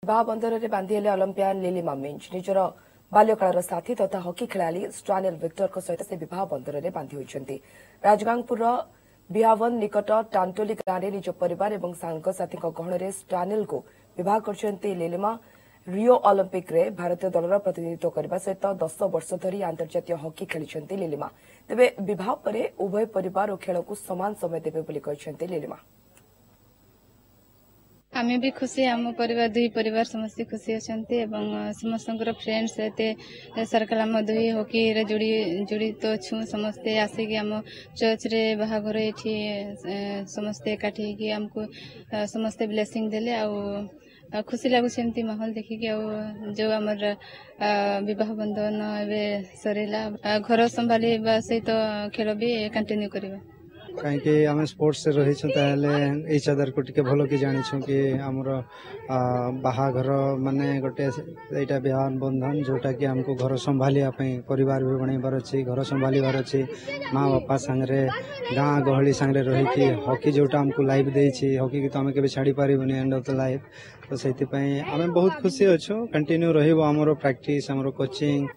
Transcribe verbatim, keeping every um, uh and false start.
ବିବାହ ବନ୍ଧନରେ ବାନ୍ଧି ହେଲେ ଅଲମ୍ପିଆନ ଲିଲିମା ମିଞ୍ଜ। ନିଜର ବାଲ୍ୟକାଳର ସାଥୀ ତଥା ହକି ଖେଳାଳି ଷ୍ଟାନିଏଲ ଭିକ୍ଟରଙ୍କ ସହିତ ସେ ବିବାହ ବନ୍ଧନରେ ବାନ୍ଧି ହୋଇଛନ୍ତି। ରାଜଗାଙ୍ଗପୁରର ବିହାବନ ନିକଟ ଟାଣ୍ଟୋଲି ଗାଁରେ ନିଜ ପରିବାର ଏବଂ ସାଙ୍ଗସାଥୀଙ୍କ ଗହଣରେ ଷ୍ଟାନିଏଲଙ୍କୁ ବିବାହ କରିଛନ୍ତି ଲିଲିମା। ରିଓ ଅଲିମ୍ପିକ୍ରେ ଭାରତୀୟ ଦଳର ପ୍ରତିନିଧିତ୍ୱ କରିବା ସହିତ ଦଶ ବର୍ଷ ଧରି ଆନ୍ତର୍ଜାତୀୟ ହକି ଖେଳିଛନ୍ତି ଲିଲିମା। ତେବେ ବିବାହ ପରେ ଉଭୟ ପରିବାର ଓ ଖେଳକୁ ସମାନ ସମୟ ଦେବେ ବୋଲି କହିଛନ୍ତି ଲିଲିମା। ଆମେ ବି ଖୁସି, ଆମ ପରିବାର, ଦୁଇ ପରିବାର ସମସ୍ତେ ଖୁସି ଅଛନ୍ତି ଏବଂ ସମସ୍ତଙ୍କର ଫ୍ରେଣ୍ଡସ୍ ଏତେ ସର୍କଲ୍, ଆମ ଦୁଇ ହକିରେ ଯୋଡ଼ି ଜଡ଼ିତ ଅଛୁ। ସମସ୍ତେ ଆସିକି ଆମ ଚର୍ଚ୍ଚରେ ବାହାଘର ଏଇଠି ସମସ୍ତେ ଏକାଠି ହେଇକି ଆମକୁ ସମସ୍ତେ ବ୍ଲେସିଂ ଦେଲେ ଆଉ ଖୁସି ଲାଗୁଛି ଏମିତି ମାହୋଲ ଦେଖିକି। ଆଉ ଯେଉଁ ଆମର ବିବାହ ବନ୍ଧନ ଏବେ ସରିଲା, ଘର ସମ୍ଭାଳିବା ସହିତ ଖେଳ ବି କଣ୍ଟିନ୍ୟୁ କରିବା। କାହିଁକି ଆମେ ସ୍ପୋର୍ଟସରେ ରହିଛୁ, ତାହେଲେ ଇଚ୍ ଅଦରକୁ ଟିକେ ଭଲ କି ଜାଣିଛୁ କି ଆମର ବାହାଘର ମାନେ ଗୋଟେ ଏଇଟା ବିବାହ ବନ୍ଧନ, ଯୋଉଟାକି ଆମକୁ ଘର ସମ୍ଭାଳିବା ପାଇଁ ପରିବାର ବି ବନେଇବାର ଅଛି, ଘର ସମ୍ଭାଳିବାର ଅଛି, ମା ବାପା ସାଙ୍ଗରେ, ଗାଁ ଗହଳି ସାଙ୍ଗରେ ରହିକି ହକି ଯୋଉଟା ଆମକୁ ଲାଇଫ୍ ଦେଇଛି, ହକିକୁ ତ ଆମେ କେବେ ଛାଡ଼ି ପାରିବୁନି ଏଣ୍ଡ ଅଫ୍ the life. ତ ସେଇଥିପାଇଁ ଆମେ ବହୁତ ଖୁସି ଅଛୁ। କଣ୍ଟିନ୍ୟୁ ରହିବ ଆମର ପ୍ରାକ୍ଟିସ୍, ଆମର କୋଚିଂ।